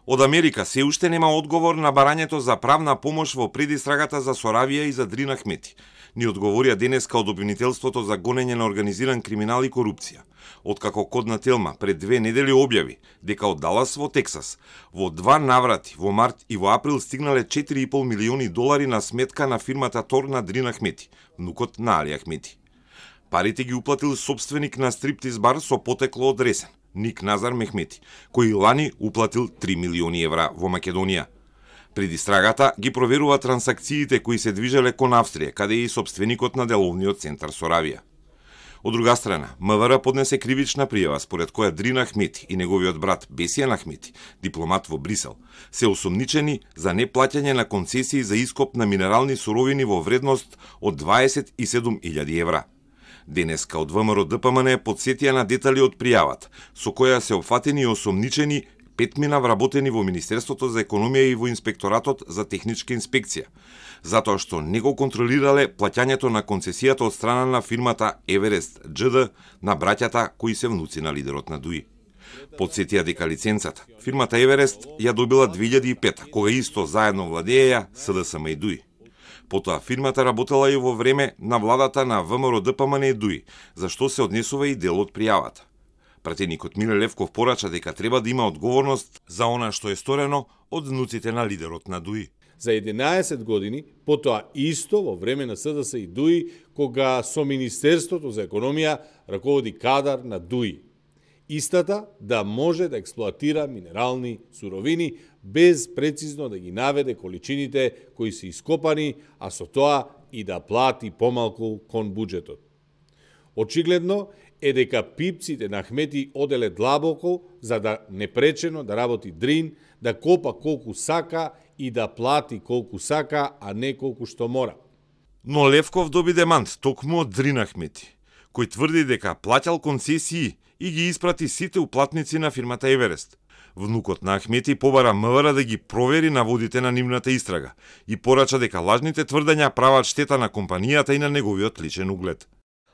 Од Америка се уште нема одговор на барањето за правна помош во предистрагата за Соравија и за Дрин Ахмети. Ни одговорија денеска од обвинителството за гонење на организиран криминал и корупција. Откако Кодна Телма пред 2 недели објави дека од Далас во Тексас во 2 наврати во март и во април стигнале $4,5 милиони на сметка на фирмата Тор на Дрин Ахмети, внукот на Али Ахмети. Парите ги уплатил собственик на стриптиз бар со потекло од Ресен, Ник Назар Мехмети, кој лани уплатил $3 милиони во Македонија. Пред истрагата ги проверува трансакциите кои се движеле кон Австрија, каде е и собственикот на деловниот центар Соравија. Од друга страна, МВР поднесе кривична пријава според која Дрин Ахмети и неговиот брат Бесијан Ахмети, дипломат во Брисел, се осомничени за неплаќање на концесии за ископ на минерални суровини во вредност од €27,000. Денеска од ВМРО ДПМН подсетија на детали од пријавата, со која се опфатени и осомничени 5 вработени во Министерството за економија и во Инспекторатот за техничка инспекција, затоа што не го контролирале плаќањето на концесијата од страна на фирмата Еверест ДЖ на браќата кои се внуци на лидерот на ДУИ. Подсетија дека лиценцата фирмата Еверест ја добила 2005, кога исто заедно владееја СДСМ и ДУИ. Потоа фирмата работела и во време на владата на ВМРО ДПМН и ДУИ, за што се однесува и дел од пријавата. Пратеникот Миле Левков порача дека треба да има одговорност за она што е сторено од внуците на лидерот на ДУИ. За 11 години, потоа исто во време на СДС и ДУИ, кога со Министерството за економија раководи кадар на ДУИ. Истата да може да експлоатира минерални суровини без прецизно да ги наведе количините кои се ископани, а со тоа и да плати помалку кон буџетот. Очигледно е дека пипците на Ахмети оделе длабоко за да непречено да работи Дрин, да копа колку сака и да плати колку сака, а не колку што мора. Но Левков доби демант токму од Дрин Ахмети, кој тврди дека плаќал концесии и ги испрати сите уплатници на фирмата Еверест. Внукот на Ахмети побара МВР да ги провери наводите на нивната истрага и порача дека лажните тврдења прават штета на компанијата и на неговиот личен углед.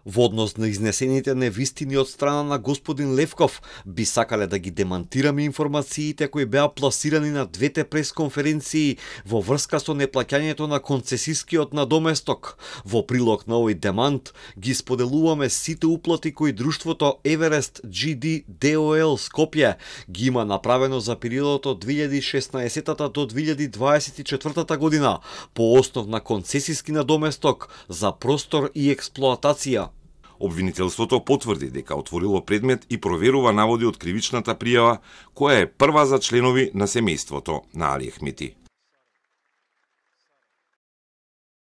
Во однос на изнесените невистини од страна на господин Левков, би сакале да ги демантираме информациите кои беа пласирани на двете пресконференции во врска со неплаќањето на концесискиот надоместок. Во прилог на овој демант ги споделуваме сите уплати кои друштвото Еверест GD DOL Скопје ги има направено за периодот од 2016 до 2024 година по основ на концесиски надоместок за простор и експлоатација. Обвинителството потврди дека отворило предмет и проверува наводи од кривичната пријава, која е прва за членови на семејството на Али Ахмети.